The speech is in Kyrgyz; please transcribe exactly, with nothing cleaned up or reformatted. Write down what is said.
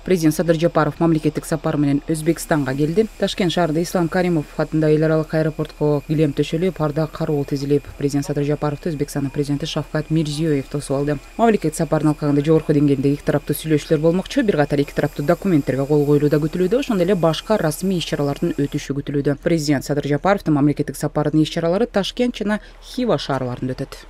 Президент Садыр Жапаров мамлекеттик сапар менен Өзбекстанга келди. Ташкент шаарында Ислам Каримов атындагы эл аралык аэропортко килем төшөлүп, ар да кароол тизилип, президент Садыр Жапаровду Өзбекстандын президенти Шавкат Мирзиёев тосуп алды. Мамлекеттик сапардын алкагында жогорку деңгээлдеги эки тараптуу сүйлөшүүлөр болмокчу, бир катар эки тараптуу документтерге кол коюлуу да күтүлүүдө, ошондой эле башка расмий иш-чаралардын өтүшү күтүлүүдө. Президент Садыр Жапаровдун мамлекеттик сапарынын иш-чаралары Ташкент жана Хива шаарларында өтөт.